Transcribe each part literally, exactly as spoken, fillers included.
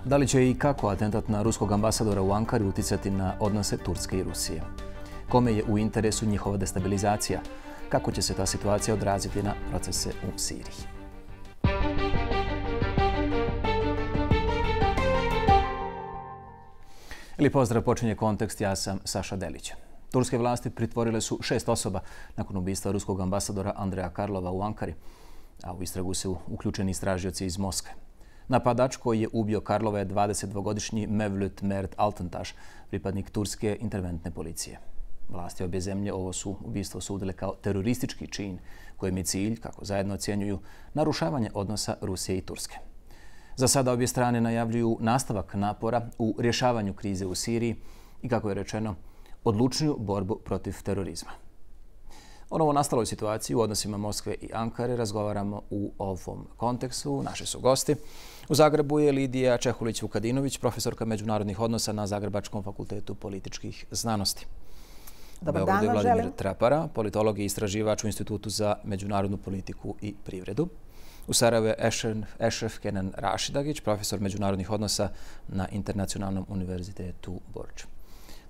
Da li će i kako atentat na ruskog ambasadora u Ankari uticati na odnose Turske i Rusije? Kome je u interesu njihova destabilizacija? Kako će se ta situacija odraziti na procese u Siriji? Ili pozdrav, počinje Kontekst, ja sam Saša Delić. Turske vlasti pritvorile su šest osoba nakon ubistva ruskog ambasadora Andreja Karlova u Ankari, a u istragu su uključeni istražioci iz Moskve. Napadač koji je ubio Karlova je dvadesetdvogodišnji Mevlut Mert Altantaš, pripadnik turske interventne policije. Vlasti obje zemlje ovo su ubistvo sudile kao teroristički čin kojem je cilj, kako zajedno ocjenjuju, narušavanje odnosa Rusije i Turske. Za sada obje strane najavljuju nastavak napora u rješavanju krize u Siriji i, kako je rečeno, odlučniju borbu protiv terorizma. O novo nastaloj situaciji u odnosima Moskve i Ankare razgovaramo u ovom kontekstu. Naši su gosti. U Zagrebu je Lidija Čehulić-Vukadinović, profesorka međunarodnih odnosa na Zagrebačkom fakultetu političkih znanosti. Dobar dan vam želim. Vladimir Trapara, politolog i istraživač u Institutu za međunarodnu politiku i privredu. U Sarajevu je Ešref Kenan Rašidagić, profesor međunarodnih odnosa na Internacionalnom univerzitetu Borč.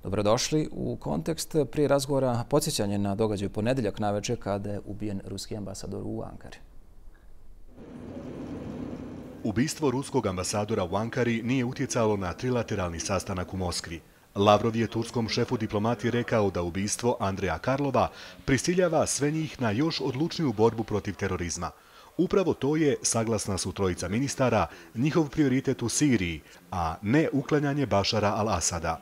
Dobrodošli u Kontekst. Prije razgovora podsjećanje na događaj u ponedjeljak navečer kada je ubijen ruski ambasador u Ankari. Ubistvo ruskog ambasadora u Ankari nije utjecalo na trilateralni sastanak u Moskvi. Lavrov je turskom šefu diplomatije rekao da ubistvo Andreja Karlova prisiljava sve njih na još odlučniju borbu protiv terorizma. Upravo to je, saglasna su trojica ministara, njihov prioritet u Siriji, a ne uklanjanje Bašara al-Asada.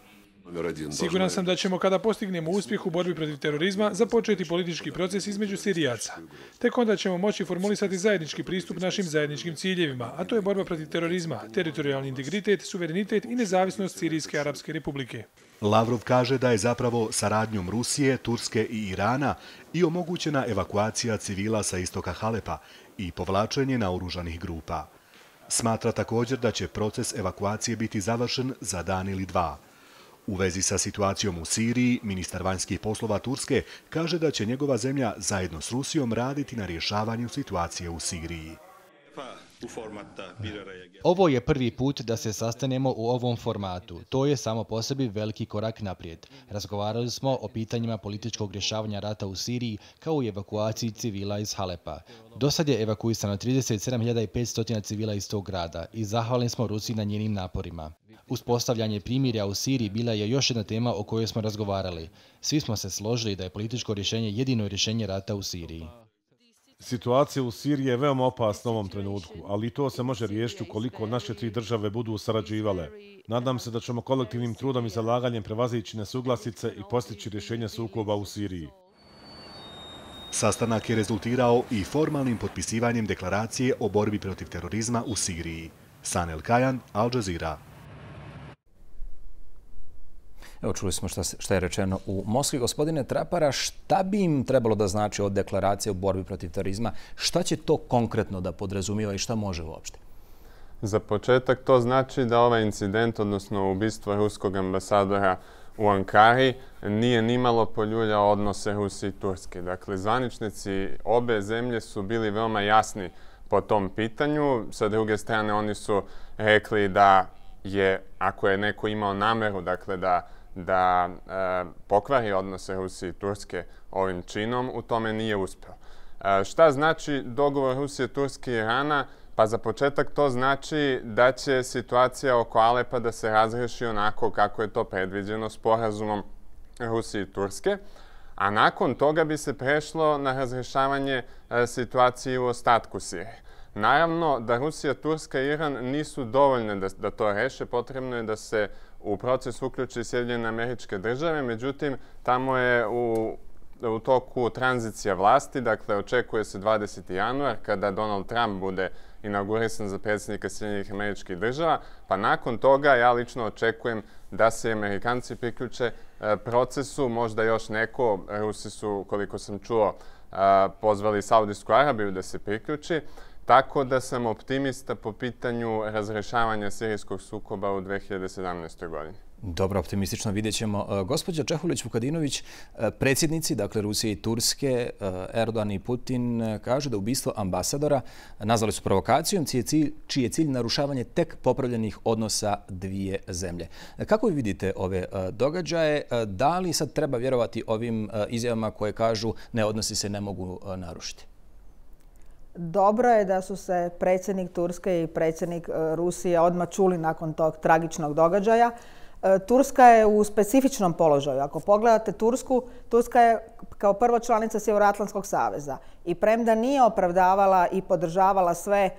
Siguran sam da ćemo, kada postignemo uspjeh u borbi protiv terorizma, započeti politički proces između Sirijaca. Tek onda ćemo moći formulisati zajednički pristup našim zajedničkim ciljevima, a to je borba protiv terorizma, teritorijalni integritet, suverenitet i nezavisnost Sirijske Arapske Republike. Lavrov kaže da je zapravo saradnjom Rusije, Turske i Irana i omogućena evakuacija civila sa istoka Halepa i povlačenje naoružanih grupa. Smatra također da će proces evakuacije biti završen za dan ili dva. U vezi sa situacijom u Siriji, ministar vanjskih poslova Turske kaže da će njegova zemlja zajedno s Rusijom raditi na rješavanju situacije u Siriji. Ovo je prvi put da se sastanemo u ovom formatu. To je samo po sebi veliki korak naprijed. Razgovarali smo o pitanjima političkog rješavanja rata u Siriji kao i evakuaciji civila iz Halepa. Do sad je evakuisano trideset sedam hiljada petsto civila iz tog grada i zahvalni smo Rusiji na njenim naporima. Uspostavljanje primirja u Siriji bila je još jedna tema o kojoj smo razgovarali. Svi smo se složili da je političko rješenje jedino rješenje rata u Siriji. Situacija u Siriji je veoma opasna u ovom trenutku, ali i to se može riješiti ukoliko naše tri države budu sarađivale. Nadam se da ćemo kolektivnim trudom i zalaganjem prevazići nesuglasice i postići rješenje sukoba u Siriji. Sastanak je rezultirao i formalnim potpisivanjem deklaracije o borbi protiv terorizma u Siriji. Sanel Kajan, Al Jazeera. Evo, čuli smo šta, šta je rečeno u Moskvi. Gospodine Trapara, šta bi im trebalo da znači od deklaracije o borbi protiv terorizma? Šta će to konkretno da podrazumiva i šta može uopšte? Za početak to znači da ovaj incident, odnosno ubistvo ruskog ambasadora u Ankari, nije nimalo poljuljao odnose Rusije i Turske. Dakle, zvaničnici obe zemlje su bili veoma jasni po tom pitanju. Sa druge strane, oni su rekli da je, ako je neko imao nameru, dakle, da da e, pokvari odnose Rusije i Turske ovim činom, u tome nije uspio. E, šta znači dogovor Rusije, Turske i Irana? Pa za početak to znači da će situacija oko Alepa da se razreši onako kako je to predviđeno sporazumom Rusije i Turske, a nakon toga bi se prešlo na razrešavanje e, situacije u ostatku Sirije. Naravno da Rusija, Turska i Iran nisu dovoljne da, da to reše, potrebno je da se u proces uključi Sjedinjene Američke Države, međutim, tamo je u, u toku tranzicija vlasti, dakle, očekuje se dvadeseti januar, kada Donald Trump bude inaugurisan za predsjednika Sjedinjenih Američkih Država, pa nakon toga ja lično očekujem da se Amerikanci priključe e, procesu, možda još neko, Rusi su, koliko sam čuo, e, pozvali Saudijsku Arabiju da se priključi, tako da sam optimista po pitanju razrešavanja sirijskog sukoba u dve hiljade sedamnaestoj. godini. Dobro, optimistično vidjet ćemo. Gospođa Čehulić-Vukadinović, predsjednici, dakle Rusije i Turske, Erdogan i Putin, kažu da ubistvo ambasadora nazvali su provokacijom čiji je cilj narušavanje tek popravljenih odnosa dvije zemlje. Kako vi vidite ove događaje? Da li sad treba vjerovati ovim izjavama koje kažu ne, odnosi se ne mogu narušiti? Dobro je da su se predsjednik Turske i predsjednik Rusije odmah čuli nakon tog tragičnog događaja. Turska je u specifičnom položaju. Ako pogledate Tursku, Turska je kao prva članica Sjevernoatlantskog saveza i premda nije opravdavala i podržavala sve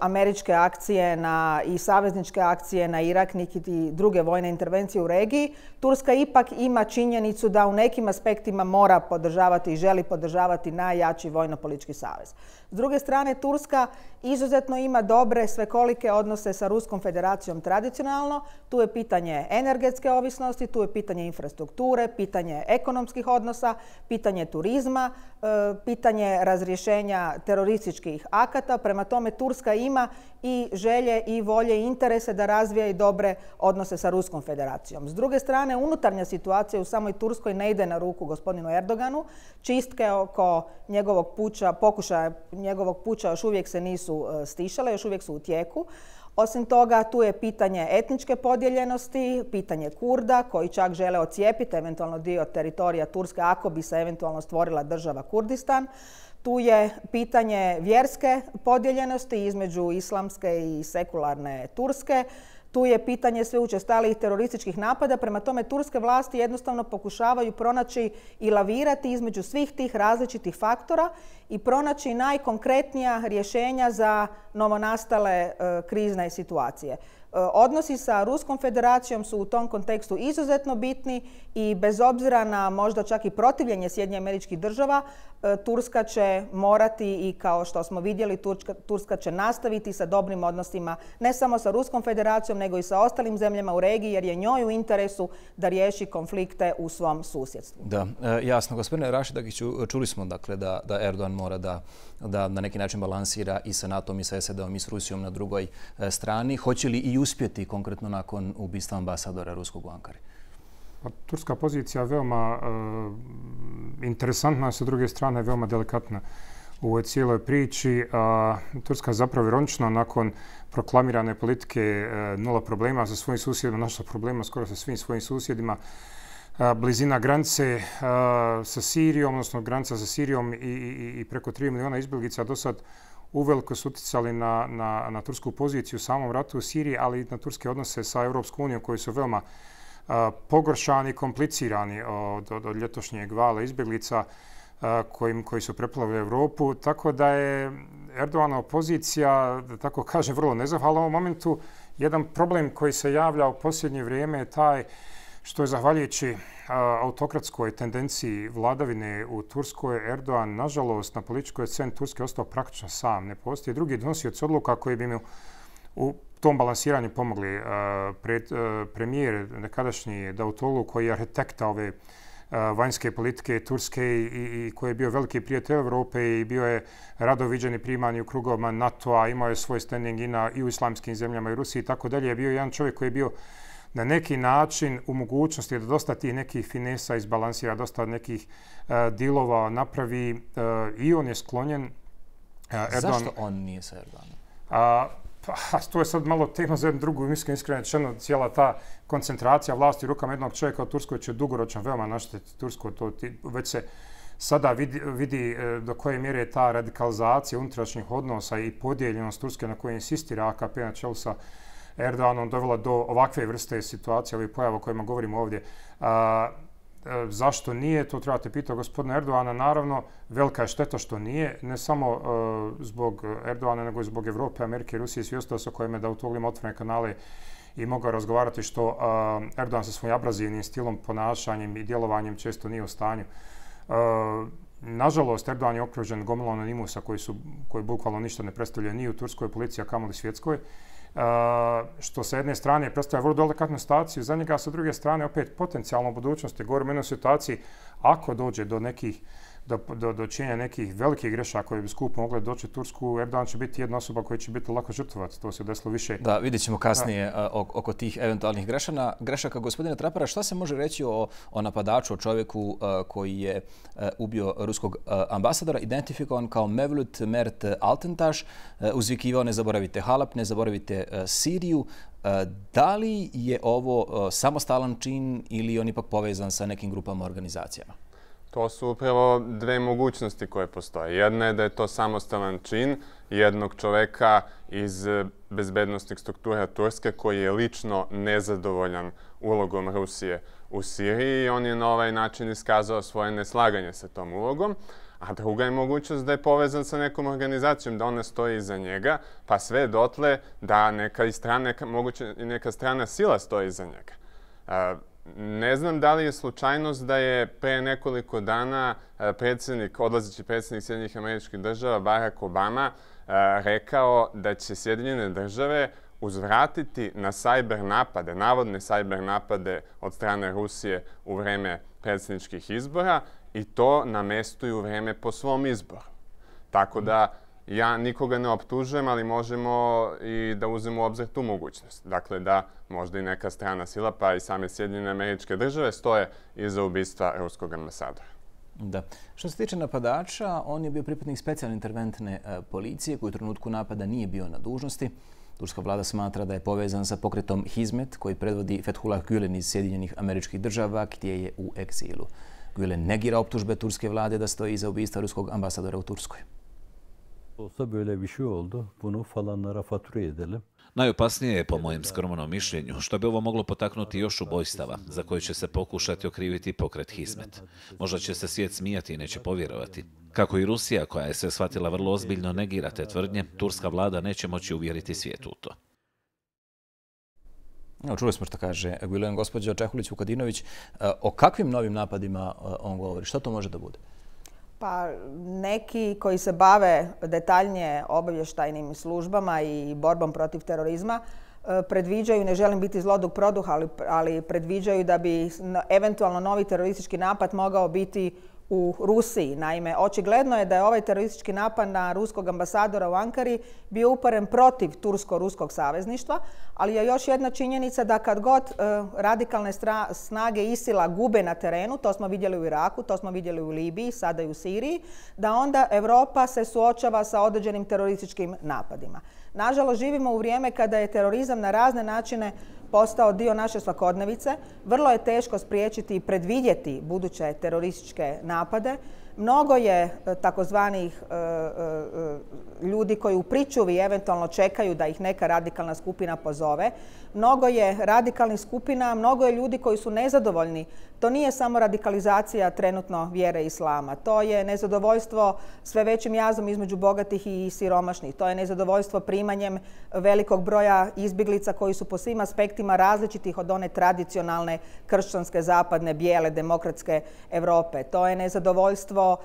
američke akcije na, i savezničke akcije na Irak, niti druge vojne intervencije u regiji, Turska ipak ima činjenicu da u nekim aspektima mora podržavati i želi podržavati najjači vojno-politički savez. S druge strane, Turska izuzetno ima dobre svekolike odnose sa Ruskom federacijom tradicionalno. Tu je pitanje energetske ovisnosti, tu je pitanje infrastrukture, pitanje ekonomskih odnosa, pitanje turizma, pitanje razrješenja terorističkih akata. Prema tome, Turska ima i želje i volje i interese da razvija i dobre odnose sa Ruskom federacijom. S druge strane, unutarnja situacija u samoj Turskoj ne ide na ruku gospodinu Erdoganu. Čistke oko njegovog puča, pokušaja njegovog puča još uvijek se nisu stišale, još uvijek su u tijeku. Osim toga, tu je pitanje etničke podijeljenosti, pitanje Kurda koji čak žele ocijepiti eventualno dio teritorija Turske ako bi se eventualno stvorila država Kurdistan. Tu je pitanje vjerske podijeljenosti između islamske i sekularne Turske. Tu je pitanje sve učestalijih terorističkih napada. Prema tome, turske vlasti jednostavno pokušavaju pronaći i lavirati između svih tih različitih faktora i pronaći najkonkretnija rješenja za novonastale e, krizne situacije. Odnosi sa Ruskom federacijom su u tom kontekstu izuzetno bitni i bez obzira na možda čak i protivljenje Sjedinjenih Američkih Država, Turska će morati i kao što smo vidjeli, Turska, Turska će nastaviti sa dobrim odnosima ne samo sa Ruskom federacijom nego i sa ostalim zemljama u regiji jer je njoj u interesu da riješi konflikte u svom susjedstvu. Da, jasno. Gospodine Rašidagiću, čuli smo dakle da, da Erdogan mora da, da na neki način balansira i sa NATO-om i sa S A D-om i s Rusijom na drugoj strani. Hoće li i uspjeti konkretno nakon ubistva ambasadora ruskog u Ankari? Pa, turska pozicija je veoma e, interesantna, sa druge strane veoma delikatna u ovoj cijeloj priči. A, Turska zapravo ironično nakon proklamirane politike e, nula problema sa svojim susjedima, našla problema skoro sa svim svojim susjedima. A, blizina granice a, sa Sirijom, odnosno granica sa Sirijom i, i, i preko tri milijuna izbjeglica do sad uveliko su utjecali na, na, na tursku poziciju u samom ratu u Siriji, ali i na turske odnose sa Europskom unijom koji su veoma a, pogoršani i komplicirani od, od, od ljetošnjeg vala izbjeglica a, kojim, koji su preplavili Europu. Tako da je Erdoganova pozicija, da tako kaže, vrlo nezahvalna u ovom momentu. Jedan problem koji se javlja u posljednje vrijeme je taj što je zahvaljujući autokratskoj tendenciji vladavine u Turskoj, Erdogan, nažalost, na političkoj sceni Turske ostao praktično sam. Ne postoji drugi donosioci odluka koji bi mu u tom balansiranju pomogli. Pred, premijer nekadašnji Davutoglu, koji je arhitekta ove vanjske politike Turske i, i koji je bio veliki prijatelj Europe i bio je rado viđen i priman u krugovima NATO-a, imao je svoj standing i, na, i u islamskim zemljama i Rusiji i tako dalje. Je bio jedan čovjek koji je bio na neki način u mogućnosti da dosta tih nekih finesa izbalansira, dosta nekih uh, dilova napravi uh, i on je sklonjen. Uh, Erdogan, zašto on nije sa Erdoganom? Uh, pa, to je sad malo tema za jednu drugu, mislim iskreno rečeno, cijela ta koncentracija vlasti u rukama jednog čovjeka u Turskoj će dugoročno veoma naštetiti Turskoj. To već se sada vidi, vidi do koje mjere je ta radikalizacija unutrašnjih odnosa i podijeljenost Turske na kojoj insistira A K P na čelu sa Erdoganom dovela do ovakve vrste situacije, ovih pojava o kojima govorimo ovdje. A, a, zašto nije? To trebate pitati gospodina Erdogana. Naravno, velika je šteta što nije. Ne samo a, zbog Erdogana, nego i zbog Evrope, Amerike, Rusije i svi ostali sa kojima je Davutoglu ima otvorene kanale i mogao razgovarati što a, Erdogan sa svojim abrazivnim stilom, ponašanjem i djelovanjem često nije u stanju. A, nažalost, Erdogan je okružen gomilom anonimusa koji, su, koji bukvalno ništa ne predstavljaju ni u turskoj policiji, a kamoli svjetskoj. Uh, što sa jedne strane predstavlja vrlo delikatnu situaciju za njega, a sa druge strane opet potencijalno u budućnosti. Govorimo o jednoj situaciji ako dođe do nekih do, do, do činjenja nekih velikih grešaka koje bi skupo mogle doći Tursku, Erdogan će biti jedna osoba koja će biti lako žrtvovac. To se desilo više. Da, vidjet ćemo kasnije da. oko tih eventualnih grešana. grešaka. Gospodine Trapara, šta se može reći o, o napadaču, o čovjeku koji je ubio ruskog ambasadora, identifikovan kao Mevlut Mert Altentaš, uzvikivao ne zaboravite Halep, ne zaboravite Siriju. Da li je ovo samostalan čin ili on ipak povezan sa nekim grupama, organizacijama? To su upravo dve mogućnosti koje postoje. Jedna je da je to samostalan čin jednog čoveka iz bezbednostnih struktura Turske koji je lično nezadovoljan ulogom Rusije u Siriji i on je na ovaj način iskazao svoje neslaganje sa tom ulogom. A druga je mogućnost da je povezan sa nekom organizacijom, da ona stoji iza njega, pa sve dotle da neka, i strana, moguće, neka strana sila stoji iza njega. Ne znam da li je slučajnost da je pre nekoliko dana predsjednik, odlazeći predsjednik Sjedinjenih Američkih Država, Barack Obama, rekao da će Sjedinjene Države uzvratiti na sajber napade, navodne sajber napade od strane Rusije u vreme predsjedničkih izbora i to na mestu i u vreme po svom izboru. Tako da ja nikoga ne optužujem, ali možemo i da uzmemo u obzir tu mogućnost. Dakle, da možda i neka strana sila, pa i same Sjedinjene Američke Države stoje iza ubistva ruskog ambasadora. Da. Što se tiče napadača, on je bio pripadnik specijalne interventne policije koji u trenutku napada nije bio na dužnosti. Turska vlada smatra da je povezan sa pokretom Hizmet koji predvodi Fethullah Gülen iz Sjedinjenih Američkih Država gdje je u egzilu. Gülen negira optužbe turske vlade da stoji iza ubistva ruskog ambasadora u Turskoj. Olsa böyle bir şey oldu. Bunu falanlara fatura edelim. Najopasnije je, po mojem skromnom mišljenju, što bi ovo moglo potaknuti još ubojstava, za koje će se pokušati okriviti pokret Hizmet. Možda će se svijet smijati i neće povjerovati. Kako i Rusija, koja je sve shvatila vrlo ozbiljno, negira te tvrdnje, turska vlada neće moći uvjeriti svijet u to. Evo, čuli smo što kaže Gülen. Gospođa Čehulić-Vukadinović, o kakvim novim napadima on govori? Što to može da bude? Pa neki koji se bave detaljnije obavještajnim službama i borbom protiv terorizma predviđaju, ne želim biti zlodug produh, ali, ali predviđaju da bi eventualno novi teroristički napad mogao biti u Rusiji. Naime, očigledno je da je ovaj teroristički napad na ruskog ambasadora u Ankari bio uperen protiv tursko-ruskog savezništva, ali je još jedna činjenica da kad god e, radikalne snage ISIL-a gube na terenu, to smo vidjeli u Iraku, to smo vidjeli u Libiji, sada i u Siriji, da onda Europa se suočava sa određenim terorističkim napadima. Nažalost, živimo u vrijeme kada je terorizam na razne načine postao dio naše svakodnevice. Vrlo je teško spriječiti i predvidjeti buduće terorističke napade. Mnogo je takozvanih e, e, ljudi koji u pričuvi eventualno čekaju da ih neka radikalna skupina pozove. Mnogo je radikalnih skupina, mnogo je ljudi koji su nezadovoljni. To nije samo radikalizacija trenutno vjere islama. To je nezadovoljstvo sve većim jazom između bogatih i siromašnih. To je nezadovoljstvo primanjem velikog broja izbjeglica koji su po svim aspektima različitih od one tradicionalne kršćanske, zapadne, bijele, demokratske Europe. To je nezadovoljstvo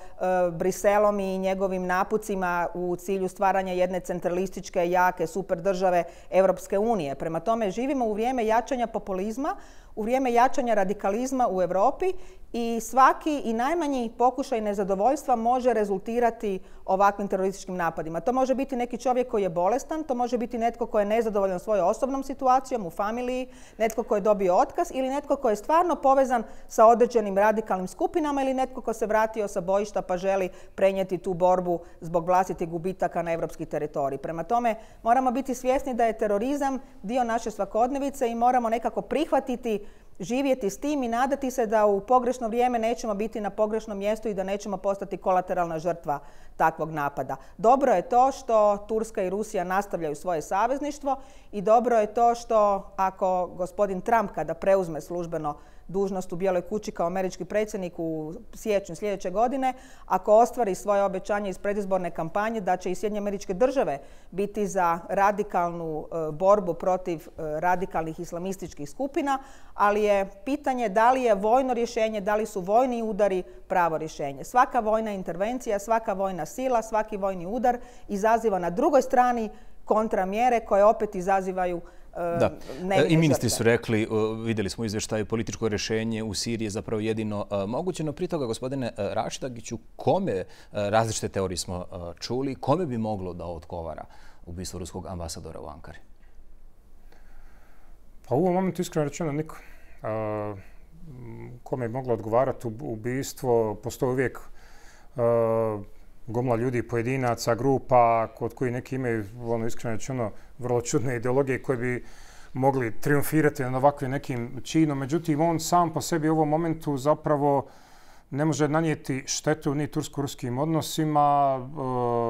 Briselom i njegovim napucima u cilju stvaranja jedne centralističke, jake, super države Europske unije. Prema tome, živimo u vrijeme jačanja populizma, u vrijeme jačanja radikalizma u Europi i svaki i najmanji pokušaj nezadovoljstva može rezultirati ovakvim terorističkim napadima. To može biti neki čovjek koji je bolestan, to može biti netko koji je nezadovoljan svojom osobnom situacijom u familiji, netko koji je dobio otkaz ili netko koji je stvarno povezan sa određenim radikalnim skupinama ili netko ko se vratio sa bojišta pa želi prenijeti tu borbu zbog vlastitih gubitaka na europski teritorij. Prema tome, moramo biti svjesni da je terorizam dio naše svakodnevice i moramo nekako prihvatiti, živjeti s tim i nadati se da u pogrešno vrijeme nećemo biti na pogrešnom mjestu i da nećemo postati kolateralna žrtva takvog napada. Dobro je to što Turska i Rusija nastavljaju svoje savezništvo i dobro je to što ako gospodin Trump kada preuzme službeno dužnost u Bijeloj kući kao američki predsjednik u siječnju sljedeće godine, ako ostvari svoje obećanje iz predizborne kampanje da će i Sjedinjene Američke Države biti za radikalnu e, borbu protiv e, radikalnih islamističkih skupina, ali je pitanje da li je vojno rješenje, da li su vojni udari pravo rješenje. Svaka vojna intervencija, svaka vojna sila, svaki vojni udar izaziva na drugoj strani kontramjere koje opet izazivaju Da. I ministri su rekli, vidjeli smo u izvještaju, političko rješenje u Siriji je zapravo jedino moguće, no prije toga, gospodine Rašitagiću, kome, različite teorije smo čuli, kome bi moglo da odgovara ubistvo ruskog ambasadora u Ankari? Pa u ovom momentu iskreno rečeno niko. Kome je moglo odgovarati ubistvo, postoji uvijek gomla ljudi, pojedinaca, grupa, kod koji neki imaju, ono, iskreno rečeno, vrlo čudne ideologije koje bi mogli triumfirati na ovakvim nekim činom. Međutim, on sam po sebi u ovom momentu zapravo ne može nanijeti štetu ni tursko-ruskim odnosima,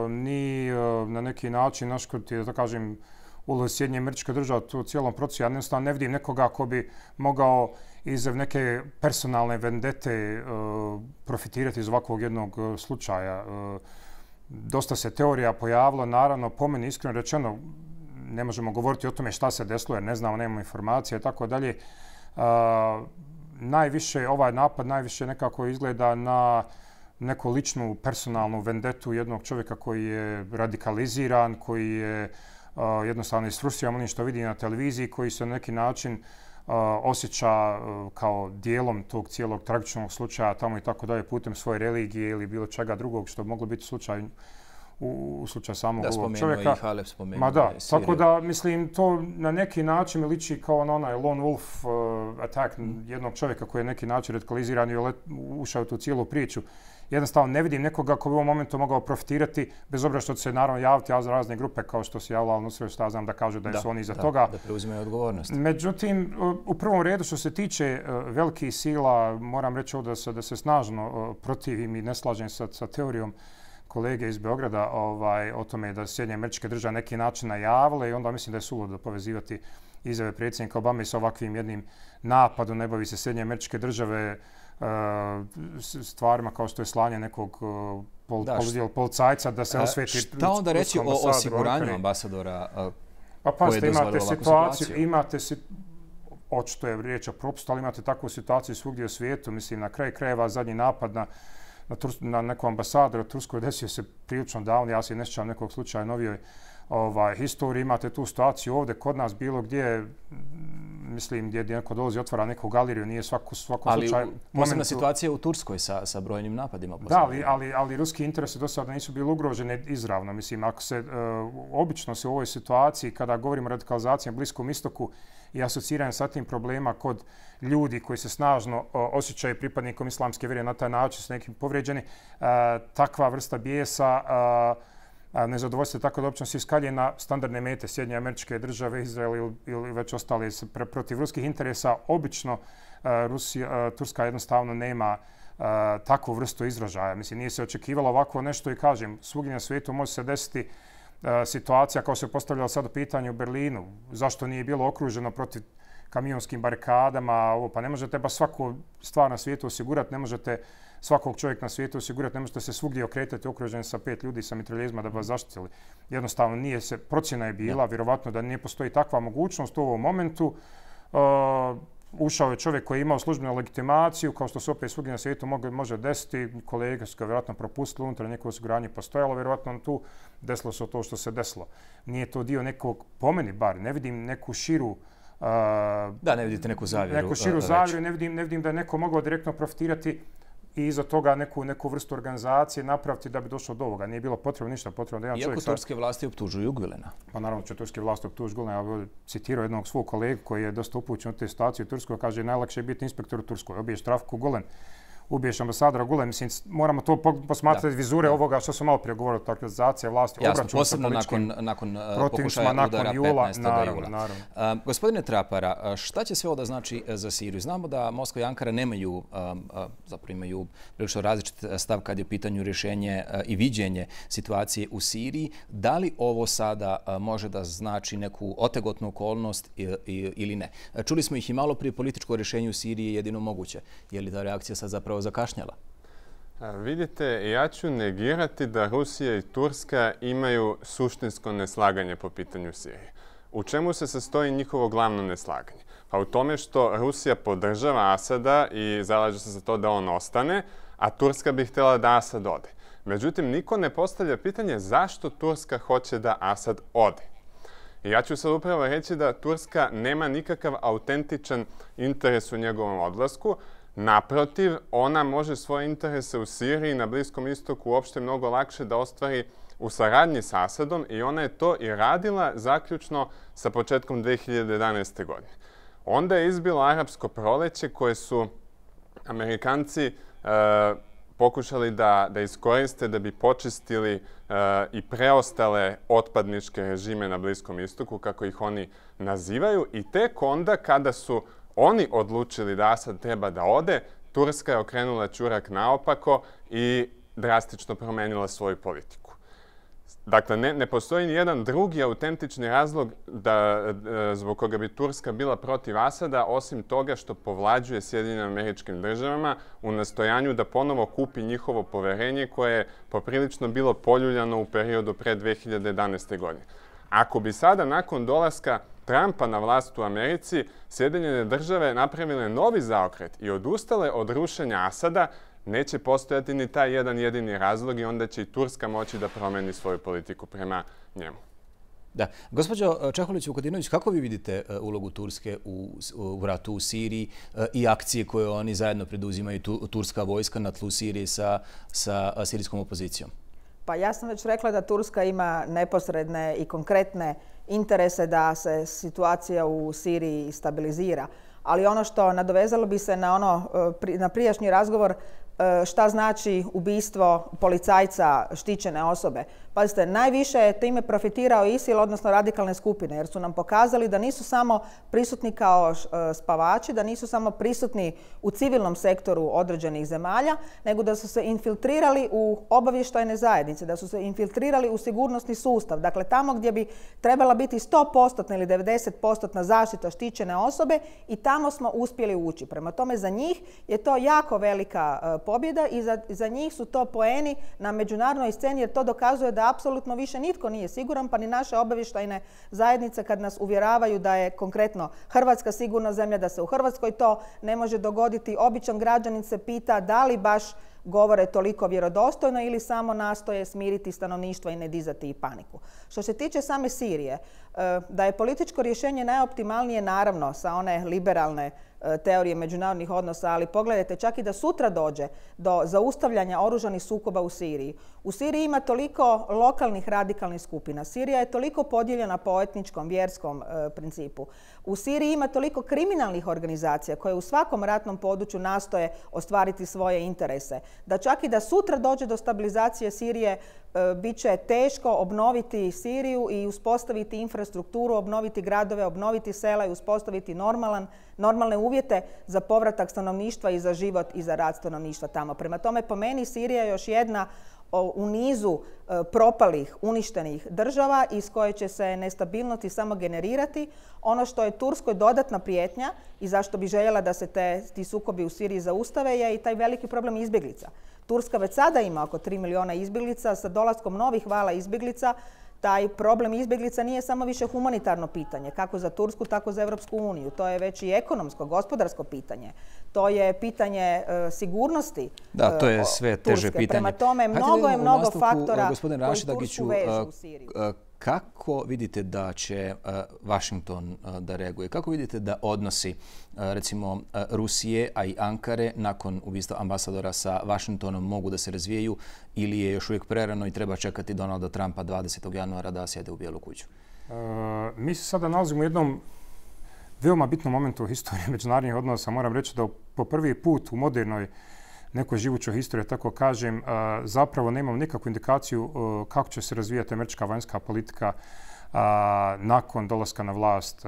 ni na neki način naškoditi, da kažem, ulozi Sjedinjenih Američkih Država u cijelom procesu. Ja jednostavno ne vidim nekoga ko bi mogao iz neke personalne vendete profitirati iz ovakvog jednog slučaja. Dosta se teorija pojavilo, naravno, po meni iskreno rečeno, ne možemo govoriti o tome šta se desilo jer ne znamo, nemamo informacije i tako dalje. Najviše, ovaj napad najviše nekako izgleda na neku ličnu personalnu vendetu jednog čovjeka koji je radikaliziran, koji je jednostavno isfrustriran onim što vidi na televiziji, koji se na neki način osjeća kao dijelom tog cijelog tragičnog slučaja tamo i tako dalje putem svoje religije ili bilo čega drugog što bi moglo biti slučaj u slučaju samog ovog čovjeka. Da, spomenuo i Halep, spomenuo Ma da, tako da, mislim, to na neki način mi liči kao na onaj lone wolf attack jednog čovjeka koji je na neki način radikaliziran i ušao u tu cijelu priču. Jednostavno ne vidim nekoga ko bi u ovom momentu mogao profitirati, bez obzira što će se naravno javiti razne grupe kao što se javila Al-Nusra, što ja znam da kažu da su oni iza toga. Da preuzimaju odgovornost. Međutim, u prvom redu što se tiče velikih sila, moram reći ovdje da se snažno protivim i ne slažem sa teorijom kolege iz Beograda o tome da Sjedinjene Američke Države na neki način najavile i onda mislim da je suludo povezivati izjave predsjednika Obame sa ovakvim jednim napadom. Ne bavi se Sjedinjene Američke Države stvarima kao što je slanje nekog policajca da se osveti. Šta onda reći o osiguranju ambasadora koji je dozvolio ovakvu situaciju? Imate očito je riječ o propustu, ali imate takvu situaciju svugdje u svijetu. Mislim, na kraj krajeva zadnji napad na na nekom ambasadoru u Turskoj desio se prilično davno, ja se ne sjećam nekog slučaja novijoj historiji. Imate tu situaciju ovdje kod nas bilo gdje, mislim, gdje neko dolazi i otvara neku galeriju, nije svako slučaj... Ali posebna situacija u Turskoj sa brojnim napadima. Da, ali ruski interesi do sada nisu bili ugroženi izravno. Mislim, ako se, obično se u ovoj situaciji, kada govorimo o radikalizaciji na Bliskom istoku i asociranju sa tim problema kod ljudi koji se snažno osjećaju pripadnikom islamske vjere na taj način su nekim povrijeđeni, takva vrsta bijesa, nezadovoljstvo tako da uopće se iskalje na standardne mete Sjedinjene Američke Države, Izrael ili već ostali protiv ruskih interesa. Obično Turska jednostavno nema takvu vrstu izražaja. Mislim, nije se očekivalo ovako nešto i kažem, svugdje na svijetu može se desiti situacija kao se postavljala sad u pitanju u Berlinu. Zašto nije bilo okruženo protiv kamionskim barikadama? Ovo, pa ne možete baš svaku stvar na svijetu osigurati, ne možete svakog čovjeka na svijetu osigurati, ne možete se svugdje okretati okruženi sa pet ljudi sa mitraljezima da bi vas zaštitili. Jednostavno nije se, procjena je bila, vjerovatno da ne postoji takva mogućnost u ovom momentu. Ušao je čovjek koji je imao službenu legitimaciju, kao što se opet svugdje na svijetu može desiti. Kolege su ga vjerojatno propustili, unutar neko osiguranje postojalo, vjerojatno tu desilo se to što se desilo. Nije to dio nekog, po meni bar, ne vidim neku širu... Da, ne vidite neku zavjeru. Neku širu zavjeru, ne vidim, ne vidim da je neko mogao direktno profitirati i iza toga neku, neku vrstu organizacije napraviti da bi došlo do ovoga. Nije bilo potrebno ništa, potrebno da jedan čovjek... Iako turske vlasti optužuju Gülena. Pa naravno će turske vlasti optužuju Gülena. Ja bih citirao jednog svog kolegu koji je dosta upućen u te situacije u Turskoj. Kaže, najlakše je biti inspektor u Turskoj. Obiješ Travku Gülen, ubiješ ambasadora Gülen. Mislim, moramo to posmatrati vizure ovoga što sam malo prije govorio, organizacija vlasti. Jasno, posebno nakon, nakon pokušaja udara petnaestog jula. Gospodine Trapara, šta će sve ovo da znači za Siriju? Znamo da Moskva i Ankara nemaju, zapravo imaju prilično različit stav kad je u pitanju rješenje i viđenje situacije u Siriji. Da li ovo sada može da znači neku otegotnu okolnost ili ne? Čuli smo ih i malo prije, političko rješenje u Siriji je jedino moguće. Je li ta reakcija sad zapravo zakašnjala? Vidite, ja ću negirati da Rusija i Turska imaju suštinsko neslaganje po pitanju Sirije. U čemu se sastoji njihovo glavno neslaganje? Pa u tome što Rusija podržava Asada i zalaže se za to da on ostane, a Turska bi htjela da Asad ode. Međutim, niko ne postavlja pitanje zašto Turska hoće da Asad ode. I ja ću sad upravo reći da Turska nema nikakav autentičan interes u njegovom odlasku. Naprotiv, ona može svoje interese u Siriji i na Bliskom istoku uopšte mnogo lakše da ostvari u saradnji s Asadom i ona je to i radila zaključno sa početkom dve hiljade jedanaeste. godine. Onda je izbilo arapsko proleće koje su Amerikanci e, pokušali da, da iskoriste da bi počistili e, i preostale otpadničke režime na Bliskom istoku, kako ih oni nazivaju. I tek onda kada su oni odlučili da Asad treba da ode, Turska je okrenula ćurak naopako i drastično promenila svoju politiku. Dakle, ne, ne postoji ni jedan drugi autentični razlog da, zbog koga bi Turska bila protiv Asada, osim toga što povlađuje Sjedinjenim Američkim Državama u nastojanju da ponovo kupi njihovo poverenje koje je poprilično bilo poljuljano u periodu pre dve hiljade jedanaeste. godine. Ako bi sada nakon dolaska Trumpa na vlast u Americi Sjedinjene Države napravile novi zaokret i odustale od rušenja Asada, neće postojati ni taj jedan jedini razlog i onda će i Turska moći da promeni svoju politiku prema njemu. Da. Gospođo Čeholić-Vukadinović, kako vi vidite ulogu Turske u, u ratu u Siriji i akcije koje oni zajedno preduzimaju, tu, turska vojska na tlu Sirije sa, sa sirijskom opozicijom? Pa ja sam već rekla da Turska ima neposredne i konkretne interese da se situacija u Siriji stabilizira. Ali ono što nadovezalo bi se na, ono, na prijašnji razgovor, šta znači ubistvo policajca, štićene osobe. Pazite, najviše je time profitirao ISIL, odnosno radikalne skupine, jer su nam pokazali da nisu samo prisutni kao spavači, da nisu samo prisutni u civilnom sektoru određenih zemalja, nego da su se infiltrirali u obavještajne zajednice, da su se infiltrirali u sigurnosni sustav. Dakle, tamo gdje bi trebala biti sto posto ili devedeset posto zaštita štićene osobe i tamo smo uspjeli ući. Prema tome, za njih je to jako velika pobjeda i za, za njih su to poeni na međunarodnoj sceni, jer to dokazuje da apsolutno više nitko nije siguran, pa ni naše obavještajne zajednice kad nas uvjeravaju da je konkretno Hrvatska sigurna zemlja, da se u Hrvatskoj to ne može dogoditi. Običan građanin se pita da li baš govore toliko vjerodostojno ili samo nastoje smiriti stanovništvo i ne dizati i paniku. Što se tiče same Sirije, da je političko rješenje najoptimalnije, naravno, sa one liberalne teorije međunarodnih odnosa, ali pogledajte, čak i da sutra dođe do zaustavljanja oružanih sukoba u Siriji. U Siriji ima toliko lokalnih radikalnih skupina. Sirija je toliko podijeljena po etničkom, vjerskom e, principu. U Siriji ima toliko kriminalnih organizacija koje u svakom ratnom području nastoje ostvariti svoje interese. Da čak i da sutra dođe do stabilizacije Sirije, e, bit će teško obnoviti Siriju i uspostaviti infrastrukturu, obnoviti gradove, obnoviti sela i uspostaviti normalan, normalne uvjete za povratak stanovništva i za život i za rad stanovništva tamo. Prema tome, po meni Sirija je još jedna u nizu propalih, uništenih država iz koje će se nestabilnosti samo generirati. Ono što je Turskoj dodatna prijetnja i zašto bi željela da se te, ti sukobi u Siriji zaustave je i taj veliki problem izbjeglica. Turska već sada ima oko tri miliona izbjeglica. Sa dolaskom novih vala izbjeglica taj problem izbjeglica nije samo više humanitarno pitanje, kako za Tursku, tako za Europsku uniju. To je već i ekonomsko, gospodarsko pitanje. To je pitanje uh, sigurnosti Da, to je sve teže Turske. pitanje. Prema tome, mnogo je mnogo faktora koji Tursku vežu u Siriji. Kako vidite da će Washington da reaguje? Kako vidite da odnosi, recimo, Rusije, a i Ankare nakon ubistva ambasadora sa Washingtonom mogu da se razvijaju ili je još uvijek prerano i treba čekati Donalda Trumpa dvadesetog januara da sjede u Bijelu kuću? E, mi se sada nalazimo u jednom veoma bitnom momentu u historiji međunarodnih odnosa. Moram reći da po prvi put u modernoj nekoj živućoj historiji, tako kažem, zapravo nemamo nikakvu indikaciju kako će se razvijati američka vanjska politika nakon dolaska na vlast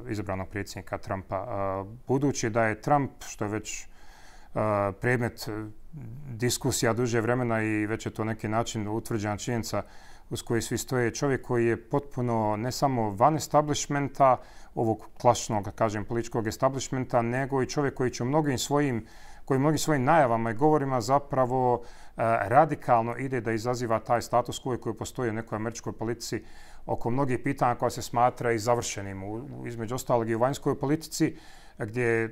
izabranog predsjednika Trumpa. Budući da je Trump, što je već predmet diskusija duže vremena i već je to neki način utvrđena činjenica uz koji svi stoje, čovjek koji je potpuno ne samo van establishmenta, ovog klasičnog, kažem, političkog establishmenta, nego i čovjek koji će u mnogim svojim koji mnogim svojim najavama i govorima zapravo uh, radikalno ide da izaziva taj status quo koji postoji u nekoj američkoj politici oko mnogih pitanja koja se smatra i završenim. U, u, između ostalog i u vanjskoj politici gdje uh,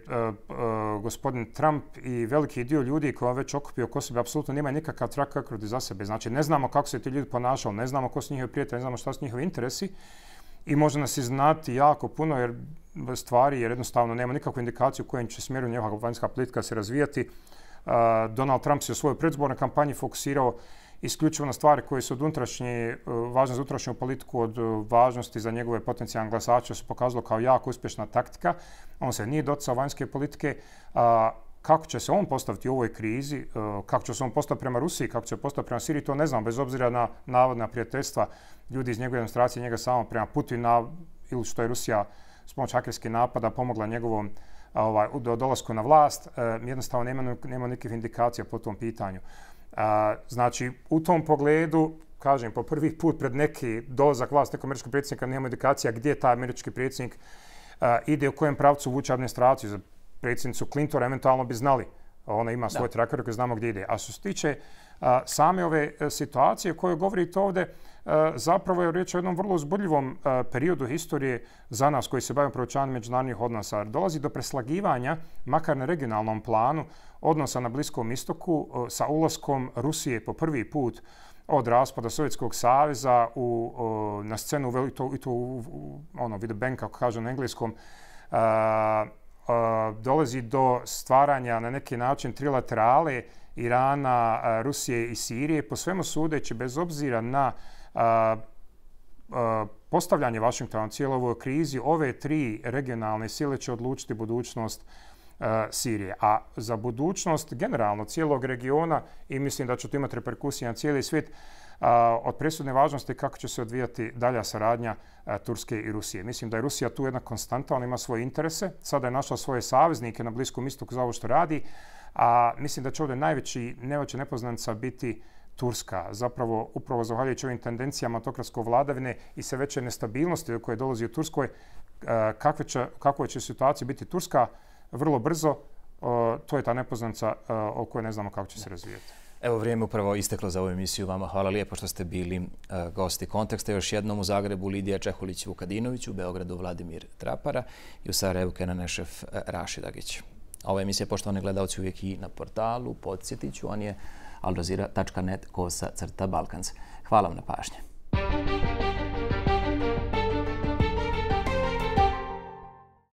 uh, gospodin Trump i veliki dio ljudi koji on već okupio oko sebe apsolutno nema nikakav track record za sebe. Znači, ne znamo kako se ti ljudi ponašali, ne znamo ko su njihovi prijatelji, ne znamo šta su njihovi interesi. i može nas iznati jako puno jer stvari, jer jednostavno nema nikakvu indikaciju u kojem će smjeru njegova vanjska politika se razvijati. Donald Trump se u svojoj predizbornoj kampanji fokusirao isključivo na stvari koje su od unutrašnje, važne za unutrašnju politiku, od važnosti za njegove potencijalne glasače, se pokazalo kao jako uspješna taktika. On se nije doticao vanjske politike. Kako će se on postaviti u ovoj krizi, kako će se on postaviti prema Rusiji, kako će se postaviti prema Siriji, to ne znam, bez obzira na navodna prijateljstva ljudi iz njegove administracije, njega samo prema Putina ili što je Rusija s pomoć hakerskih napada pomogla njegovom ovaj, dolasku na vlast. Jednostavno nema, nema nikakvih indikacija po tom pitanju. Znači, u tom pogledu, kažem, po prvi put pred neki dolazak vlasti nekog američkog predsjednika nema indikacija gdje taj američki predsjednik ide, u kojem pravcu vuče administraciju. Za predsjednicu Clintona eventualno bi znali. Ona ima svoj tracker koji znamo gdje ide. A što se tiče a, same ove a, situacije o kojoj govorite ovdje, a, zapravo je riječ o jednom vrlo uzbudljivom a, periodu historije za nas koji se bavimo proučavanjem međunarodnih odnosa. Dolazi do preslagivanja, makar na regionalnom planu, odnosa na Bliskom istoku a, sa ulaskom Rusije po prvi put od raspada Sovjetskog saveza u, a, na scenu i to, i to u, u ono, with the bank, kako kažu na engleskom, a, dolazi do stvaranja na neki način trilaterale Irana, Rusije i Sirije. Po svemu sudeći, bez obzira na a, a, postavljanje Vašingtona u cijeloj ovoj krizi, ove tri regionalne sile će odlučiti budućnost a, Sirije. A za budućnost generalno cijelog regiona, i mislim da će to imati reperkusije na cijeli svijet, a, od presudne važnosti kako će se odvijati dalja saradnja a, Turske i Rusije. Mislim da je Rusija tu jedna konstanta, ona ima svoje interese. Sada je našla svoje saveznike na Bliskom istoku za ovo što radi. A mislim da će ovdje najveći, najveća nepoznanica biti Turska. Zapravo, upravo zahvaljujući ovim tendencijama autokratske vladavine i sve veće nestabilnosti do koje dolazi u Turskoj, kakve će, kakve će situacije biti Turska vrlo brzo, to je ta nepoznanica o kojoj ne znamo kako će se razvijati. Evo, vrijeme upravo isteklo za ovu emisiju. Vama hvala lijepo što ste bili uh, gosti Konteksta. Još jednom u Zagrebu Lidija Čehulić-Vukadinović, u Beogradu Vladimir Trapara i u Sarajevu Kenan Ešref Rašid Agić. Ova emisija, poštovani gledalci, uvijek i na portalu. Podsjetit ću, on je al jazeera tačka net kosa crta balkans. Hvala vam na pažnje.